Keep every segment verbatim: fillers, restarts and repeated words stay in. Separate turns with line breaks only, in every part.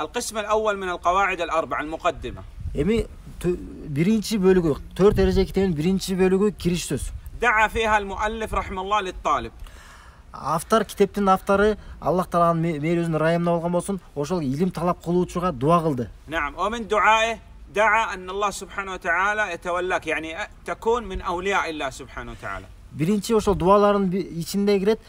القسم الأول من القواعد الأربعة المقدمة.
Эми биринчи бөлүгү, төрт эреже китебинин биринчи бөлүгү кириш сөз.
دعا فيها المؤلف رحمه الله للطالب.
Автор, китептин автору Аллах Тааланын мээрөзүнүн ырайымына болгон болсун, ошол илим талап кылуучуга дуа кылды.
نعم ومن دعائه دعا أن الله سبحانه وتعالى يتولاك يعني تكون من أولياء الله سبحانه وتعالى.
Биринчи ошол дуалардын ичинде кирет,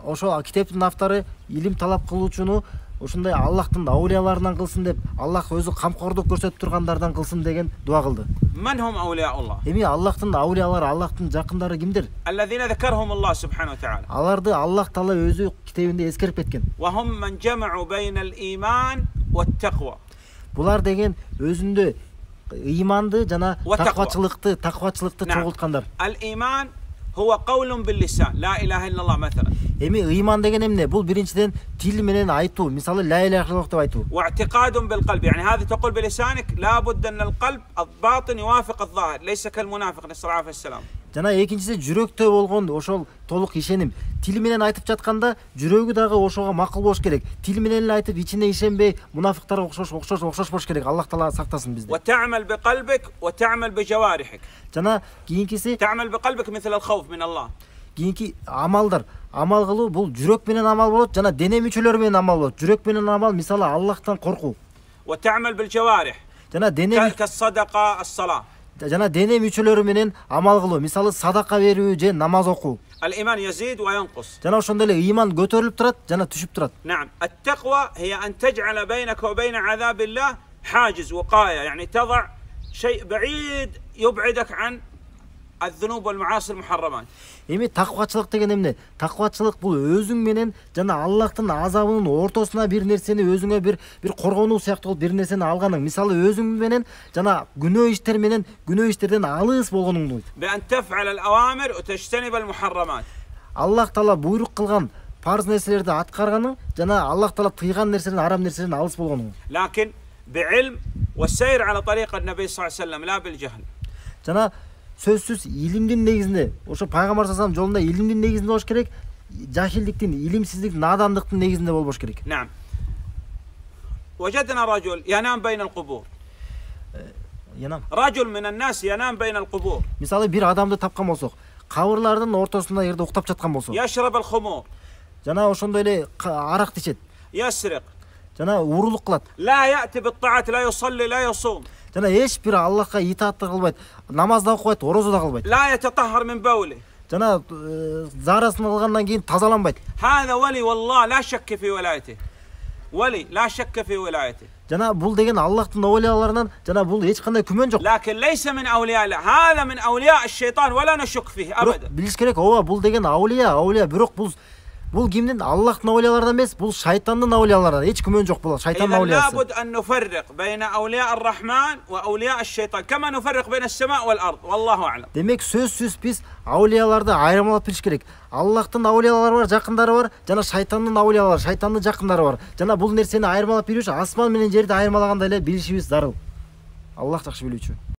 ошол китептин автору илим талап кылуучуну ушундай Аллахтын аулияларынан кылсын деп, Аллах өзү камкордук көрсөтүп тургандардан кылсын деген дуа кылды.
من هم أولياء الله؟
Эми Аллахтын аулиялары, Аллахтын жакындары кимдир?
الذين ذكرهم الله سبحانه وتعالى.
Аларды Аллах Таала өзү китебинде эскерип кеткен.
وهم من جمعوا بين الإيمان والتقوى.
Булар деген өзүндө ыйманды жана таквачылыкты, таквачылыкты чогулткандар.
الإيمان هو قول باللسان لا إله إلا الله مثلا.
Эми ыйман деген эмне? Бул биринчиден тил менен айтуу, мисалы ла иляха илlalloh деп айтуу.
واعتقاد بالقلب يعني هذا تقول بلسانك لابد أن القلب الباطن يوافق الظاهر ليس كالمنافق نسأل الله العافية والسلام.
Жана экинчиси жүрөктө болгон ошол толук ишеним. Тил менен айтып жатканда жүрөгү дагы ошого макул болуш керек. Тил менен эле айтып ичине ишенбей, мунафиктарга окшош окшош окшош болуш керек. Аллах Таала сактасын бизди.
وتعمل بقلبك وتعمل بجوارحك.
Жана кийинкиси
تعمل بقلبك مثل الخوف من الله.
Кийинки амалдар. Амал кылуу бул жүрөк менен амал болот, жана дене мүчөлөрү менен амал болот. Жүрөк менен амал мисалы Аллахтан коркуу.
وتعمل بالجوارح.
Жана дене
كالصدقة الصلاة.
жана дене мүчөлөрү менен амал кылуу, мисалы садака берүү же намаз окуу.
الإيمان يزيد وينقص.
Жана ошондой эле ыйман көтөрүлүп турат, жана түшүп турат.
نعم التقوى هي أن تجعل بينك وبين عذاب الله حاجز وقاية يعني تضع شيء بعيد يبعدك عن الذنوب والمعاصي المحرمات.
Эми таквачылык деген эмне? Таквачылык бул өзүң менен жана Аллахтын азабынын ортосуна бир нерсени өзүңө бир бир коргонуу сыяктуу бир нерсени алганың. Мисалы өзүң менен жана күнөө иштер менен күнөө иштерден алыс болгонуңду.
بأن تفعل الأوامر وتجتنب المحرمات.
Аллах Таала буйрук кылган парз нерселерди аткарганың жана Аллах Таала тыйган нерселерден, арам нерселерден алыс болгонуң.
لكن بعلم والسير على طريق النبي صلى الله عليه وسلم لا بالجهل.
Жана сөзсүз илимдин негизинде, ошо пайгамбар саллаллаху алейхи вассалам жолунда илимдин негизинде болуш керек, жахилдиктин, илимсиздиктин, надандыктын негизинде болбош керек.
نعم. وجدنا رجل ينام بين القبور.
Янам.
رجل من الناس ينام بين القبور.
Мисалы бир адамды тапкан болсок, кабырлардын ортосунда жерде уктап жаткан болсо.
يشرب الخمور.
Жана ошондой эле арак ичет.
يسرق.
Жана урулук кылат.
لا يأتي بالطاعات لا يصلي لا يصوم.
Жана эч бир Аллахка итаатты кылбайт, намаз да окубайт, орозо да кылбайт.
لا يتطهر من بوله.
Жана заарасын кылгандан кийин тазаланбайт.
هذا ولي والله لا شك في ولايته. ولي لا شك في ولايته.
Жана бул деген Аллахтын аулияларынан, жана бул эч кандай күмөн жок.
لكن ليس من أولياء الله. هذا من أولياء الشيطان ولا نشك فيه أبدا.
Билиш керек, ооба бул деген аулия, аулия, бирок бул бул кимдин? Аллахтын аулияларынан эмес, бул шайтандын аулияларынан. Эч күмөн жок бул шайтандын аулиясы.
لابد أن نفرق بين أولياء الرحمن وأولياء الشيطان كما نفرق بين السماء والأرض والله أعلم.
Демек сөзсүз биз аулияларды айырмалап билиш керек. Аллахтын аулиялары бар, жакындары бар, жана шайтандын аулиялары, шайтандын жакындары бар. Жана бул нерсени айырмалап билүү үчүн асман менен жерди айырмалагандай эле билишибиз зарыл. Аллах жакшы билүүчү.